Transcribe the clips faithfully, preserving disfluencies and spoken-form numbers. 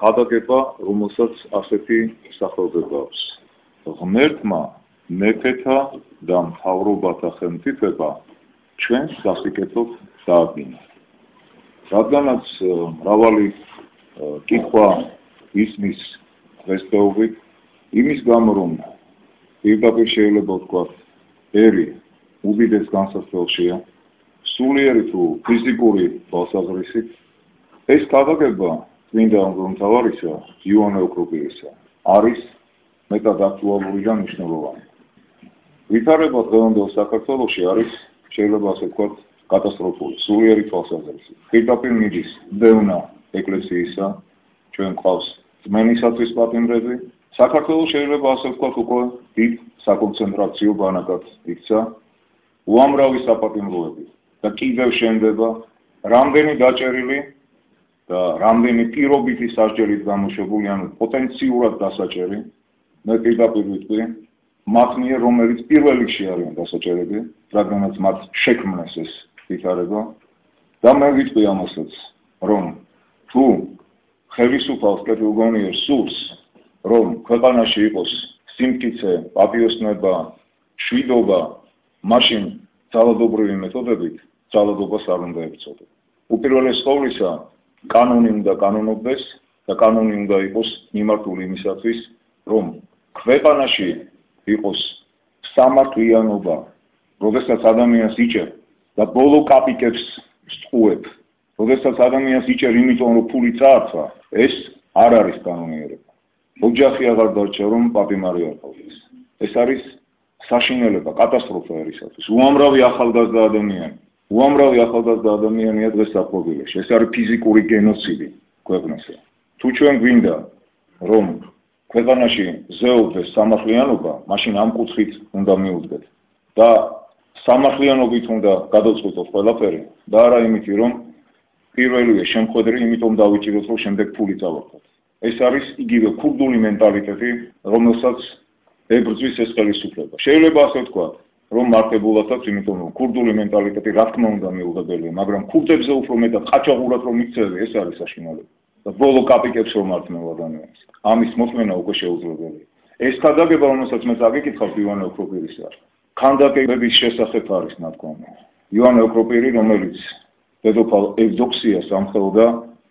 გადაგება, რომელსაც ასეთი სახელდება აქვს. ღმერთმა მეფეთა და მთავრობათა ხელმწიფება ჩვენს სასიკეთოდ დაადგინა. რადგანაც მრავალი კითხვა ისმის დღესდღეობით, იმის გამო რომ პირდაპირ შეიძლება ვთქვათ, ერი უდიდეს განსაცდელშია, სულიერი თუ ფიზიკური თვალსაზრისით, ეს გადაგება წმინდა მღვდელმთავარისა იოანე ოქროპირისა არის მეტად აქტუალური და მნიშვნელოვანი. ვითარება დღევანდელ საქართველოში არის, შეიძლება ასე ვთქვათ, კატასტროფული, სულიერი თვალსაზრისით. პირდაპირ მიდის დევნა ეკლესიისა, ჩვენ გვყავს წმენისათვის პატიმრები. საქართველოს შეიძლება ასე ვთქვათ, უკვე დიდ საკონცენტრაციო ბანაკად იქცა, უამრავი საპატიმროები და კიდევ შენდება, რამდენი დაჭერილი და რამდენი პირობითი სასჯელით გამოშვებული, ანუ პოტენციურად დასაჭერი, მე პირდაპირ ვიტყვი, მათ მიერ, რომელიც პირველ რიგში არიან დასაჭერები, რადგანაც მათ შექმნეს ეს ვითარება და მე ვიტყვი ამასაც, რომ თუ ხელისუფალს კეთილგონიერ სურს, რომ ქვეყანაში იყოს სიმტკიცე, პატიოსნება, შვიდობა, მაშინ ძალადობრივი მეთოდებით ძალადობას არ უნდა ებრძოდა. უპირველეს ყოვლისა, კანონი უნდა კანონობდეს და კანონი უნდა იყოს მიმართული იმისათვის, რომ ქვეყანაში იყოს სამართლიანობა, როდესაც ადამიანს იჭერ და ბოლო კაპიკებს სწუებ, როდესაც ადამიანს იჭერ იმიტომ, რომ ფული წაართვა, ეს არ არის კანონიერება. ოჯახი აღარ დარჩა, რომ პატიმარი არ ყავდეს. ეს არის საშინელება, კატასტროფა ერისათვის. უამრავი ახალგაზრდა ადამიანი, უამრავი ახალგაზრდა ადამიანია დღეს საფლობილოში. ეს არის ფიზიკური გენოციდი ქვეყნაზე. თუ ჩვენ გვინდა, რომ ქვეყანაში ზეობდეს სამართლიანობა, მაშინ ამ კუთხით უნდა მივუდგეთ და სამართლიანობით უნდა გადავწყვეტოთ ყველაფერი და არა იმითი, რომ პირველივე შემხედრი, იმიტომ დავიჭიროთ, რომ შემდეგ ფული წავარდოთ. ეს არის იგივე ქურდული მენტალიტეტი, რომელსაც ებრძვის ეს ხელისუფლება. შეიძლება ასე ვთქვათ, რომ მართებულად აქვს, იმიტომ რომ ქურდული მენტალიტეტი რა თქმა უნდა მიუღებელია, მაგრამ ქურდებზე უფრო მეტად ყაჩაღურად რომ იქცევი, ეს არის საშინელება. და ბოლო კაპიკებს რომ მართმევ ადამიანს. ამის მოწმენა უკვე შეუძლებელია. ეს ქადაგება, რომელსაც მე წაგიკითხავთ იოანე ოქროპირისა, ქანდაკებების შესახებ არის ნათქვამი. იოანე ოქროპირი, რომელიც დედოფალ ევდოქსიას ამხელდა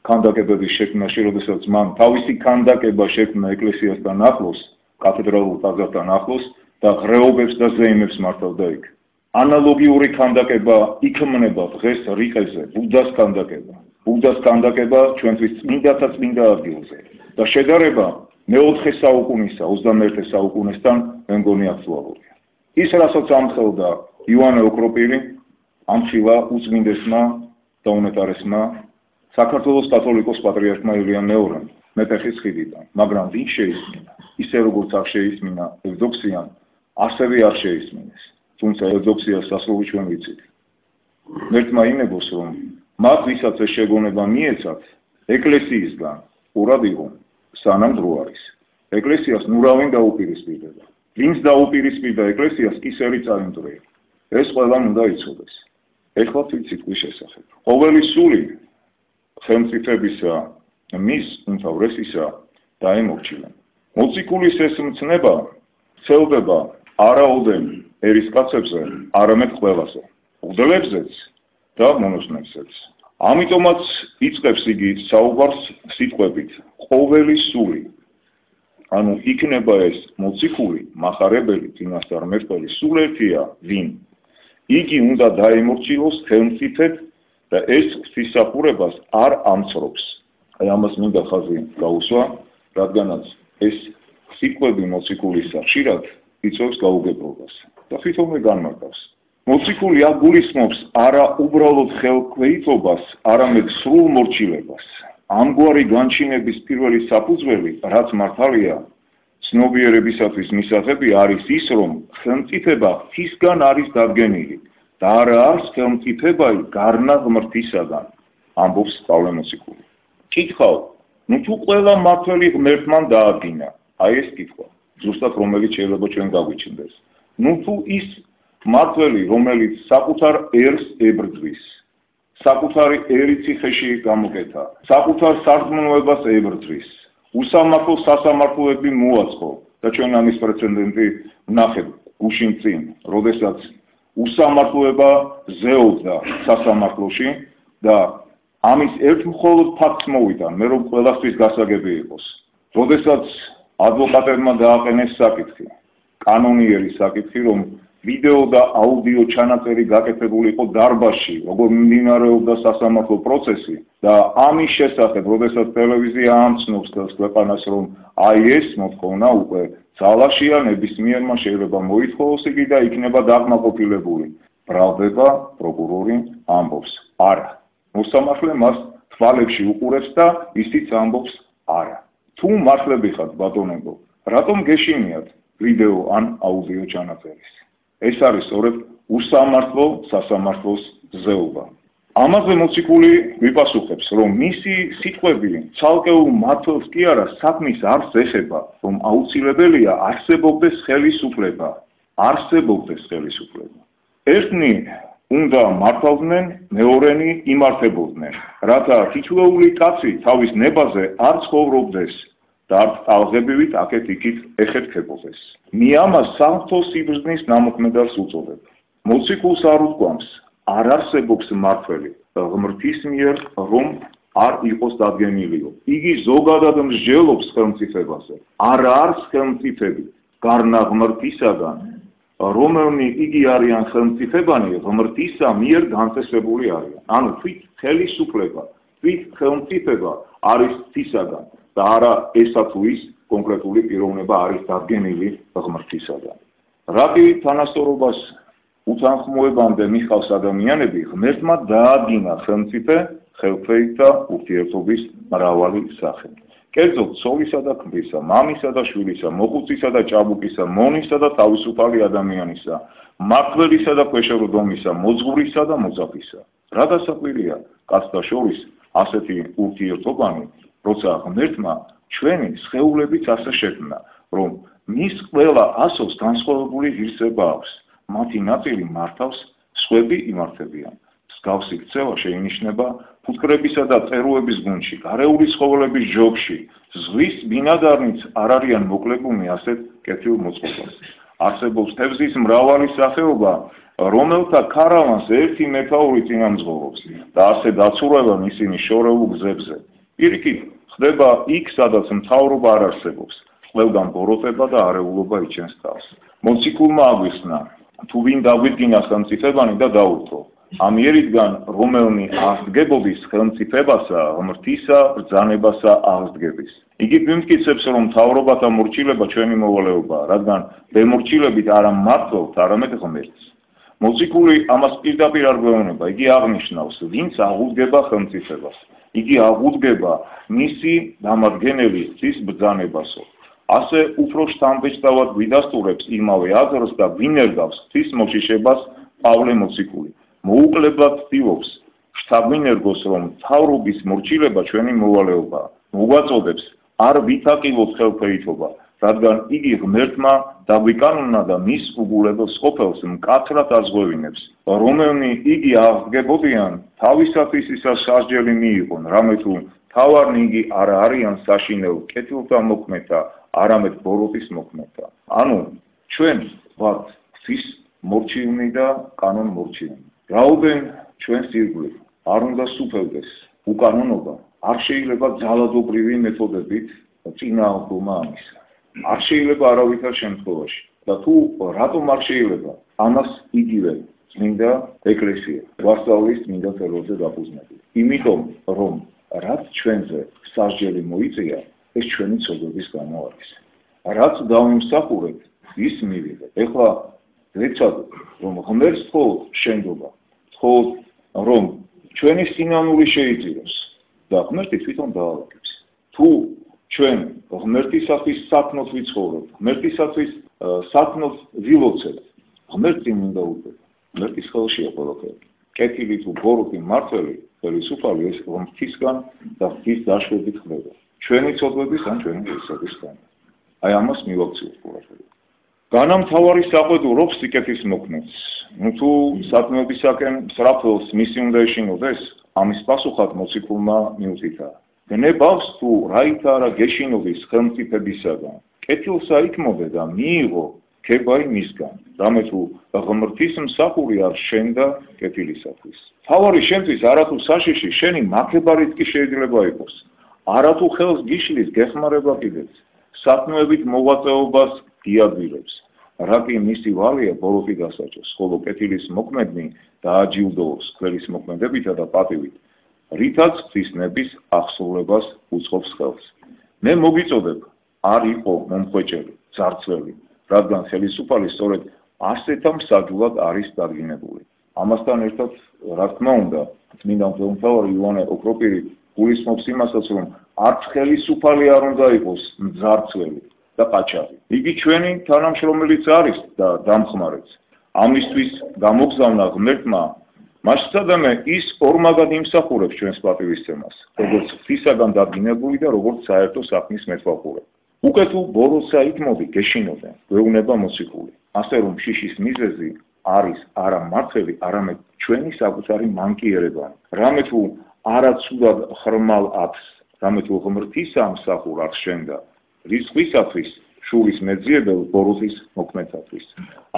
ქანდაკებების შექმნაში, როდესაც მან თავისი ქანდაკება შექმნა ეკლესიასთან ახლოს, კათედრალურ ტაძართან ახლოს და ღრეობებს და ზეიმებს მართავდა იქ. ანალოგიური ქანდაკება იქმნება დღეს რიყეზე, ბუდას ქანდაკება. ბუდას ქანდაკება ჩვენთვის წმინდათა წმინდა ადგილზე და შედარება მეოთხე საუკუნისა, ოცდამეერთე საუკუნესთან მე მგონი აქტუალურია. ის რასაც ამხელდა იოანე ოქროპირი, ამხილა უწმინდესმა და უნეტარესმა საქართველოს კათოლიკოს პატრიარქმა ილიამ მეორემ მეტეხის ხიდიდან, მაგრამ ვინ შეისმინა? ისე როგორც არ შეისმინა ევდოქსიამ, ასევე არ შეისმინეს. თუმცა ევდოქსიას სასრული ჩვენ ვიცით. მერთმა იმებოს, რომ მათ ვისაც ეს შეგონება მიეცათ, ეკლესიისგან ყურად იყო, სანამ დრო არის. ეკლესიას ნურავინ დაუპირისპირდება. ვინც დაუპირისპირდა ეკლესიას, კისერი წაიმტვრია. ეს ყველამ უნდა იცოდეს. ეხლა ვიცით ვის შესახებ. ყოველი სული ხელმწიფებისა მის უმთავრესისა დაემორჩილა. მოციქულის ეს მცნება ცელდება არაოდენ ერისკაცებზე, არამედ ყველაზე, მღვდლებზეც და მონაზვნებზეც. ამიტომაც იწყებს იგი საუბარს სიტყვებით ყოველი სული. ანუ იქნება ეს მოციქული, მახარებელი, წინასწარმეტყველი სულ ერთია, ვინ? იგი უნდა დაემორჩილოს ხელმწიფედ და ეს ღვთისმსახურებას არ ამცრობს. აი ამას მინდა ხაზი გაუსვა, რადგანაც ეს სიტყვები მოციქულისა ხშირად იწვევს გაუგებრობას და თვითონვე განმარტავს. მოციქული აგულისხმობს არა უბრალოდ ხელქვეითობას, არამედ სრულ მორჩილებას. ამგვარი განჩინების პირველი საფუძველი, რაც მართალია, ცნობიერებისათვის მისაღები არის ის, რომ ხელმწიფება ღვთისგან არის დადგენილი და არა არის ხელმწიფება გარნა ღმრთისაგან, ამბობს პავლე მოციქული. კითხავ, ნუ თუ ყველა მმართველი ღმერთმან დაადგინა, აი ეს კითხვა, ზუსტად რომელიც შეიძლება ჩვენ გაგვიჩნდეს. ნუ თუ ის მმართველი, რომელიც საკუთარ ერს ებრძვის, საკუთარი ერიციხეში გამოკეთა, საკუთარ სარწმუნოებას ებრძვის, უსამართლო სასამართლოები მოაწყო და ჩვენ ამის პრეცედენტი ვნახეთ გუშინ წინ, როდესაც უსამართლოება ზეობდა სასამართლოში და ამის ერთ მხოლოდ ფაქტს მოვიდა, მე რომ ყველასთვის გასაგები იყოს. როდესაც ადვოკატებმა დააყენეს საკითხი, კანონიერი საკითხი, რომ ვიდეო და აუდიო ჩანაწერი გაკეთებული იყო დარბაზში, როგორ მიმდინარეობდა სასამართლო პროცესი და ამის შესახებ, როდესაც ტელევიზია ამცნობს ქვეყანას, რომ აი ეს მოთხოვნა უკვე ძალაშია, ნებისმიერმა შეიძლება მოითხოვოს იგი და იქნება დაკმაყოფილებული. ბრალდება პროკურორი ამბობს, არა. მოსამართლე მას თვალებში უყურებს და ისიც ამბობს, არა. თუ მართლები ხართ ბატონებო, რატომ გეშინიათ ვიდეო ან აუდიო ჩანაწერის? ეს არის სწორედ უსამართლო სასამართლოს ზეობა. ამაზე მოციქული ვიპასუხებს, რომ მისი სიტყვები ცალკეულ მართლს კი არა საქმის არსს ეხება, რომ აუცილებელია არსებობდეს ხელისუფლება, არსებობდეს ხელისუფლება. ერთნი უნდა მართავდნენ, მეორენი იმართებოდნენ, რათა თითოეული კაცი თავის ნებაზე არ ცხოვრობდეს და არ ტალღებივით აქეთ-იქით ეხეთქებოდეს. მე ამას სამთო სიბრძნის ნამოქმედარს უწოდებ. მოციქულს არ უთქვამს, არ არსებობს მართველი ღმრთის მიერ, რომ არ იყოს დადგენილიო. იგი ზოგადად მსჯელობს ხელმწიფებაზე. არ არის ხელმწიფები გარნა ღმრთისაგან, რომელნი იგი არიან ხელმწიფებანი, ღმრთისა მიერ განწესებული არიან. ანუ თვით ხელისუფლება, თვით ხელმწიფება არის თვისაგან და არა ესა თუ ის კონკრეტული პიროვნება არის დადგენილი ღმრთისაგან. რატი თანასწორობას უთანხმოებამდე მიხავს ადამიანები, ღმერთმა დაადგინა ხელმწიფე, ხელფეით და ურთიერთობის მრავალი სახე. კერძოდ ცოლისა და ქმრისა, მამისა და შვილისა, მოხუცისა და ჭაბუკისა, მონისა და თავისუფალი ადამიანისა, მმართველისა და ქვეშევრდომისა, მოძღვრისა და მოძაფისა. რა დასაკვირია კაცთა შორის ასეთი ურთიერთობანი, როცა ღმერთმა ჩვენი სხეულებიც ასე შექმნა, რომ მის ყველა ასოს განსხვავებული ღირსება აქვს. მათი ნაწილი მართავს, სხვები იმართებიან. მსგავსი ქცევა შეინიშნება ფუტკრებისა და წერუების გუნდში, გარეული ცხოველების ჯოგში, ზღვის ბინადარნიც არ არიან მოკლებულნი ასეთ კეთილ მოწყობას. არსებობს თევზის მრავალი სახეობა, რომელთა ქარავანს ერთი მეთაური წინამძღოლობს და ასე დაცურვებენ ისინი შორეულ გზებზე. პირიქით, ხდება იქ, სადაც მთავრობა არ არსებობს, ყველგან ბოროტება და არეულობა იჩენს თავს. მოციქულმა აგვიხსნა, თუ ვინ დაგვიდგინა ხელმწიფებანი და დაურთო. ამ იერიდან რომელნი აღსდგებოდის ხელმწიფებასა, ღმრთისა, ბრძანებასა აღსდგების. იგი გვიმტკიცებს, რომ მთავრობათა მორჩილება ჩვენი მოვალეობაა, რადგან დემორჩილებით არა მმართველთ, არამედ ღმერთს. მოციქული ამას პირდაპირ არ გვეუბნება, იგი აღნიშნავს, ვინც აღუდგება ხელმწიფებას. იგი აღუდგება მისი დამადგენელი ღვთის ბრძანებასო. ასე უფრო შთამბეჭდავად გვიდასტურებს იმავე აზრს და გვინერგავს ღვთის მოშიშებას პავლე მოციქული. მოუკლებლად ცდილობს შთაგვინერგოს, რომ მთავრობის მორჩილება ჩვენი მოვალეობაა. მოგვაწოდებს არ ვითაკილოთ ხელფეითობა, რადგან იგი ღმერთმა დაგვიკანონა და მის უგულებელს ყოფილს მკაცრად აზღვევინებს, რომელნი იგი აღსდგებოდიან, თავისათვის ისა სასჯელი მიიღონ, რამე თუ თავარნი იგი არ არიან საშინელ კეთილთა მოქმედა, არამედ ბოროტის მოქმედა. ანუ ჩვენ ვართ ღვთის მორჩილნი და კანონ მორჩილნი. რაოდენ ჩვენს ირგვლივ არ უნდა სუფევდეს უკანონობა, არ შეიძლება ძალადობრივი მეთოდებით წინააღმდომა ამისა. არ შეიძლება არავითარ შემთხვევაში და თუ რატომ არ შეიძლება, ამას იგივე წმინდა ეკლესია გვასწავლის წმინდა წერილზე დაფუძნებული. იმიტომ რომ რაც ჩვენზე სასჯელი მოიწია, ეს ჩვენი ცოდვების გამო არის. რაც დავიმსახურეთ, ის მივიღეთ. ეხლა ვეცადოთ, რომ ღმერთს მხოლოდ შენდობა, მხოლოდ რომ ჩვენი სინანული შეიწიროს და ღმერთი თვითონ დაალაგებს. თუ ჩვენ ღმერთისათვის საქმოთ ვიცხოვრებთ, ღმერთისათვის საქმოთ ვილოცებთ, ღმერთს წინ უნდა უდგეთ. ღმერთის ხელშია ყველაფერი. კეთილი თუ ბოროტი მმართველი, ხელისუფალი ეს ღმერთისგან და ღვთის დაშვებით ხდება. ჩვენი ცოდვების ან ჩვენი ღირსების გამო. აი ამას მივაქციოთ ყველაფერი. განამთავარი საყვედურობს სიკეთის მოქმედს. ნუ თუ სათნოებისაკენ სრაფელს მისი უნდა ეშინოდეს, ამის პასუხად მოციქულმა მიუთითა. გნებავს თუ რაით არა გეშინოდეს ხელმწიფებისაგან, კეთილსა იქმოდე და მიიღო ქებაი მისგან, რამე თუ ღმრთის მსახური არ შენდა კეთილისათვის. თავარი შენთვის არათუ საშიში შენი მაქებარით კი შეიძლება იყოს, არათუ ხელს გიშლის გეხმარება კიდეც, სათნოებით მოღვაწეობას დიადვილებს, რა კი მისი ვალია ბოროტი დასაჭოს, ხოლო კეთილის მოქმედნი დააჯილდოოს ყველის მოქმედებითა და პატივით, რითაც ღვთისნების აღსრულებას უწყობს ხელს. მე მოგიწოდებ, არ იყო მომხვეჭელი, ძარცველი, რადგან ხელისუფალი სწორედ ასეთა მსაჯულად არის დადგინებული. ამასთან ერთად, რა თქმა უნდა, წმინდა მღვდელმთავარი იოანე ოქროპირი გულისხმობს იმასაც, რომ არც ხელისუფალი არ უნდა იყოს მძარცველი და ყაჩაღი. იგი ჩვენი თანამშრომელიც არის და დამხმარეც. ამისთვის გამოგზავნა ღმერთმა მასწავლე ის ორმაგად იმსახურებს ჩვენს პატივისცემას, როგორც ღვთისაგან დადგინებული და როგორც საერთო საქმის მეთვალყურე. უკვე თუ ბოროტსა იქმოდი გეშინოდე, გვეუბნება მოციქული. ასე რომ შიშის მიზეზი არის არა მართლი, არამედ ჩვენი საკუთარი მანკიერება. რამე თუ არა ცუდად ხრმალ ათს, რამე თუ ღმრთისა მსახურ არ შენდა, რისხვისათვის, შურის მეძიებელ ბოროტის მოქმედათვის.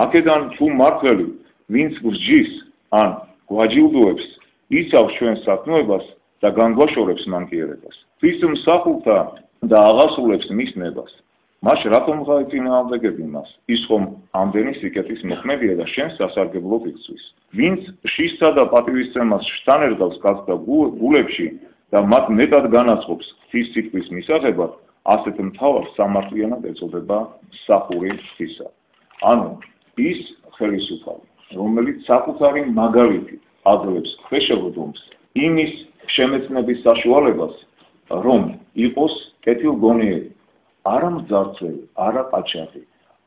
აქედან თუ მართლი, ვინც გსჯის, ან გვაჯილდოებს, იცავს ჩვენს სათნოებას და განგვაშორებს მანკიერებას. ვის მსახურთა და აღასრულებს მის ნებას. მას რატომ გაეწინააღმდეგები მას? ის ხომ ამდენი სიკეთის მოქმედია და შენ სასარგებლოდ იწვის. ვინც შისა და პატივისცემას შთანერგავს კაცს და გულებში და მათ მეტად განაცხობს ღვთის სიტყვის მისაღებად, ასეთ მთავარს სამართლიანად ეწოდება მსახური ღვთისა. ანუ ის ხელისუფალი, რომელიც საკუთარი მაგალითით აძლევს ქვეშევრდომს იმის შემეცნების საშუალებას, რომ იყოს კეთილგონიერი, არა მძარცველი, არა ყაჩაღი,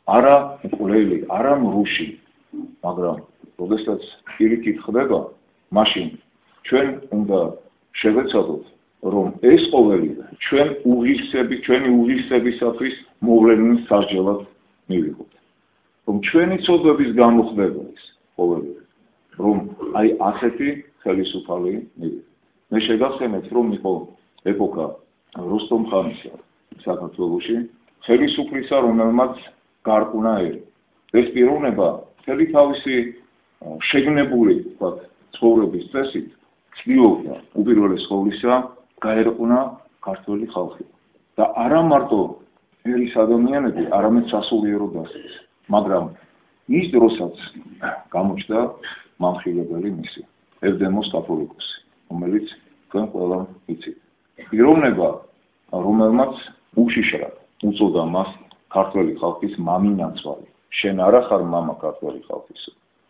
არა მკვლელი, არა მრუში, მაგრამ როდესაც პირიქით ხდება, მაშინ ჩვენ უნდა შევეცადოთ, რომ ეს ყოველივე ჩვენ უღირსები, ჩვენი უღირსებისათვის მოვლენილ სასჯელად მივიღოთ. რომ ჩვენი ცოდვების გამო ხდება ეს ყოველივე, რომ აი ასეთი ხელისუფალი მივიღოთ. მე შეგახსენებთ, რომ იყო ეპოქა როსტომ ხანისა საქართველოში, ხელისუფლისა, რომელმაც გარყუნა ერი. ეს პიროვნება მთელი თავისი შეგნებული ცხოვრების წესით ცდილობდა უპირველეს ყოვლისა გაერყუნა ქართველი ხალხი. და არა მარტო ერის ადამიანები, არამედ სასულიერო დასიც. მაგრამ ის დროსაც გამოჩნდა მამხილებელი მისი, ევდემოს კათოლიკოსი, რომელიც თქვენ ყველამ იცით. პიროვნება, რომელმაც უშიშრად უწოდა მას ქართველი ხალხის მამინაცვალი. შენ არა ხარ მამა ქართველი ხალხის,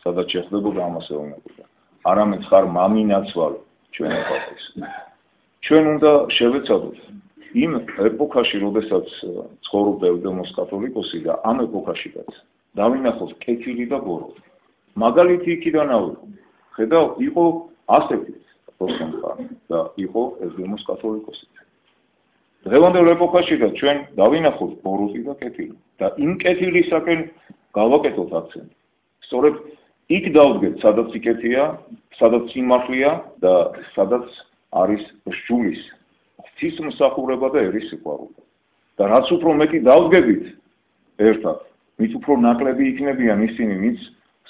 სადაც შეხვდებოდა ამას ეუბნებოდა. არამედ ხარ მამინაცვალი ჩვენი ხალხის. ჩვენ უნდა შევეცადოთ იმ ეპოქაში, როდესაც ცხოვრობდა ევდემოს კათოლიკოსი და ამ ეპოქაშიც დავინახოთ კეთილი და ბოროტი. მაგალითი იქიდან ავიღო. ხედავ, იყო ასეთი როსტომ ხანი და იყო ევდემოს კათოლიკოსი. დღევანდელ ეპოქაში და ჩვენ დავინახოთ ბოროტი და კეთილი და იმ კეთილისაკენ გავაკეთოთ აქცენტი. სწორედ იქ დავდგეთ, სადაც სიკეთეა, სადაც სიმართლეა და სადაც არის სჯულის, ღვთის მსახურება და ერის სიყვარული. და რაც უფრო მეტი დავდგებით ერთად, მით უფრო ნაკლები იქნებიან ისინი, ვინც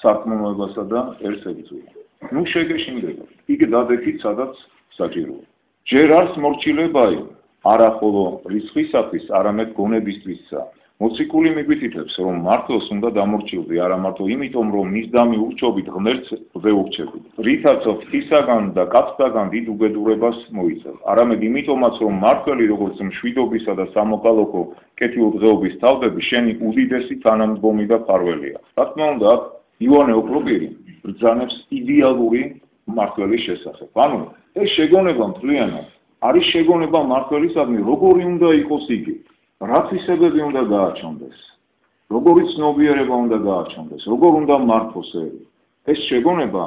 სარწმუნოებასა და ერს ებრძვიან. ნუ შეგეშინდებათ, იქ დადექით, სადაც საჭიროა. ჯერ არც მორჩილებაი, არა ხოლო რისხვისათვის, არამედ გონებისთვისა. მოციქული მიგვითითებს, რომ მართლს უნდა დამორჩილდე, არა მარტო იმიტომ, რომ მის დამი ურჩობით ღმერთს ვეურჩებით. რითაც ღვთისაგან და კაცთაგან დიდ უბედურებას მოიცავ. არამედ იმიტომაც, რომ მართველი როგორც მშვიდობისა და სამოქალაქო კეთილდღეობის თავდები, შენი უდიდესი თანამდგომი და მფარველია. რა თქმა უნდა, აქ იოანე ოქროპირი ბრძანებს იდეალური მმართველის შესახებ. ანუ ეს შეგონება მთლიანად არის შეგონება მმართველისადმი, როგორი უნდა იყოს იგი. რა თვისებები უნდა გააჩნდეს, როგორი ცნობიერება უნდა გააჩნდეს, როგორ უნდა მართოს ერი. ეს შეგონება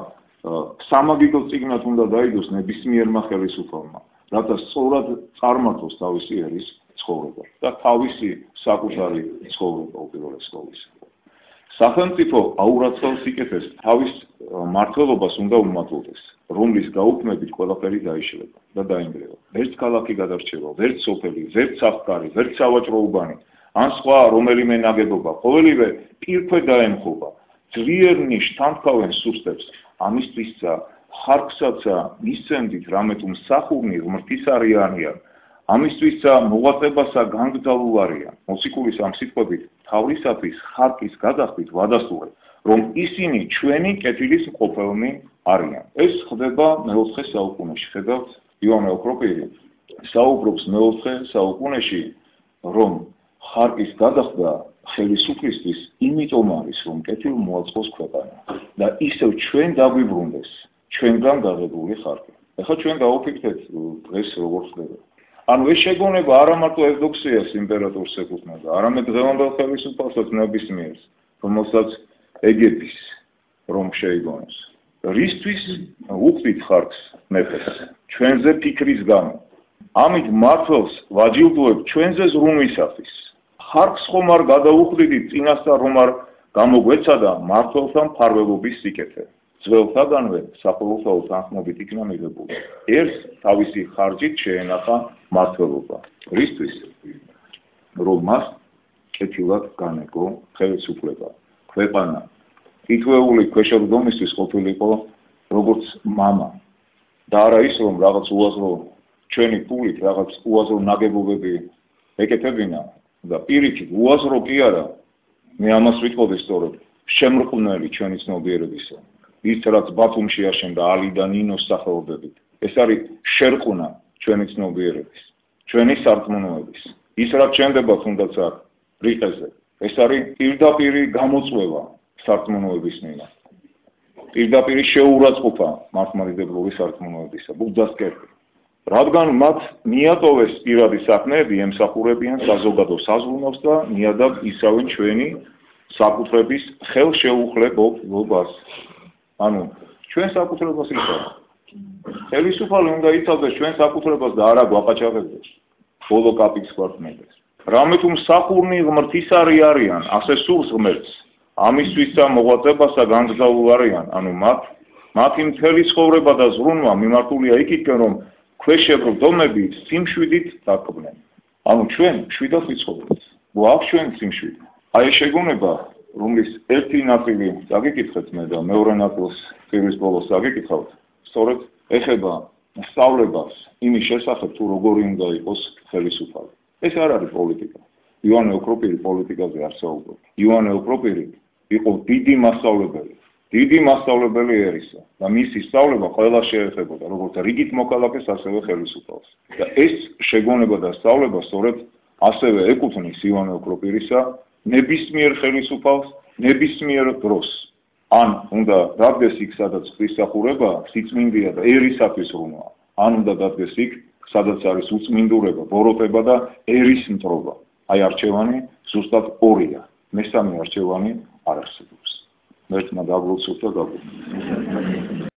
სამაგიდო წიგნად უნდა დაიდოს ნებისმიერმა ხელისუფალმა, რათა სწორად წარმართოს თავისი ერის ცხოვრება და თავისი საკუთარი ცხოვრება უპირველეს ყოვლისა. სახელმწიფო აურაცხელ სიკეთეს თავის მმართველობას უნდა უმატულდეს, რომლის გაუქმებით ყველაფერი დაიშლება და დაინგრევა. ვერც ქალაქი გადარჩება, ვერც სოფელი, ვერც საფკარი, ვერც სავაჭრო უბანი, ან სხვა რომელიმე ნაგებობა, ყოველივე პირქვე დაემხობა. ძლიერნი შთანთქავენ სუსტებს, ამისთვისცა ხარკსაცა მისცემდით, რამე თუ მსახურნი ღმრთისარიანია, ამისთვისცა მოღვაწებასა განგრძალულ არიან. მოციქულის ამ სიტყვებით თავისათვის ხარკის გადახდით ვადასტურებ, რომ ისინი ჩვენი კეთილის მყოფელნი არიან. ეს ხდება მეოთხე საუკუნეში. ხედავთ, ივანე ოქროპირი საუბრობს მეოთხე საუკუნეში, რომ ხარკის გადახდა ხელისუფლისთვის იმიტომ არის, რომ კეთილ მოაწყოს ქვეყანა და ისევ ჩვენ დაგვიბრუნდეს ჩვენგან გაღებული ხარკი. ეხლა ჩვენ დავაფიქრეთ დღეს როგორ ხდება. ანუ ეს შეგონება არა მარტო ევდოქსიას იმპერატორს ეკუთვნოდა, არამედ დღევანდელ ხელისუფალსაც ნებისმიერს, რომელსაც ეგების რომ შეიგონოს. რისთვის უხდით ხარკს მეფეს? ჩვენზე ფიქრის გამო. ამით მართლს ვაჯილდოებ ჩვენზე ზრუნვისათვის. ხარკს ხომ არ გადაუხდით წინასწარ, რომ არ გამოგვეცადა მართლთა მფარველობის სიკეთე. ძველთაგანვე საყოველთაო თანხმობით იქნა მიღებული. ერთს თავისი ხარჯით შეენახა მმართველობა. რისთვის? რომ მას კეთილად განეგო ხელისუფლება. ქვეყანა თითოეული ქვეშევრდომისთვის ყოფილიყო როგორც მამა. და არა ის, რომ რაღაც უაზრო ჩვენი პულით რაღაც უაზრო ნაგებობები ეკეთებინა და პირიქით უაზრო კი არა, მე ამას ვიტყოდი სწორედ, შემრყვნელი ჩვენი ცნობიერებისა. ის რაც ბათუმში აშენდა ალი და ნინოს სახელობებით. ეს არის შერყუნა ჩვენი ცნობიერების, ჩვენი სარწმუნოების. ის რაც შენდება თუნდაც აქ რიყეზე, ეს არის პირდაპირი გამოწვევა სარწმუნოების მიერ. პირდაპირი შეურაცხყოფა მართლმადიდებლური სარწმუნოებისა, ბუძასკერტი. რადგან მათ მიატოვეს პირადი საქმეები, ემსახურებიან საზოგადო საზრუნავს და ნიადაგ ისავენ ჩვენი საკუთრების ხელშეუხლებობას. ანუ ჩვენ საკუთრებას იცავთ. ხელისუფალი უნდა იცავდეს ჩვენ საკუთრებას და არა გვაყაჩაღებდეს. ბოლო კაპიკს გვართმევდეს. რამე თუ მსახურნი ღმრთისარი არიან, ასე სურს ღმერთს. ამისთვისა მოღვაწებასა განგრძალულ არიან, ანუ მათ მათი მთელი ცხოვრება და ზრუნვა მიმართულია იქითკენ, რომ ქვეშევრდომები სიმშვიდით დაკბნენ. ანუ ჩვენ მშვიდად ვიცხოვრობთ. გვაქვს ჩვენ სიმშვიდე. აი ეს შეგონება, რომლის ერთი ნაწილი წაგიკითხეთ მე და მეორე ნაწილს წირის ბოლოს წაგიკითხავთ, სწორედ ეხება სწავლებას იმის შესახებ, თუ როგორი უნდა იყოს ხელისუფალი. ეს არ არის პოლიტიკა. ივანე ოქროპირი პოლიტიკაზე არ საუბრობს. ივანე ოქროპირი იყო დიდი მასწავლებელი. დიდი მასწავლებელი ერისა და მისი სწავლება ყველა შეეხებოდა, როგორც რიგით მოქალაქეს, ასევე ხელისუფალს. და ეს შეგონება და სწავლება სწორედ ასევე ეკუთვნის ივანე ოქროპირისა ნებისმიერ ხელისუფალს, ნებისმიერ დროს. ან უნდა დადგეს იქ, სადაც ღვთისმსახურება, სიწმინდეა და ერისათვის ბრუნვა. ან უნდა დადგეს იქ, სადაც არის უწმინდურება, ბოროტება და ერის მტრობა. აი არჩევანი ზუსტად ორია. მესამე არჩევანი არ არსებობს. ერთმა დაგლოცოთ და გაგვიგებთ.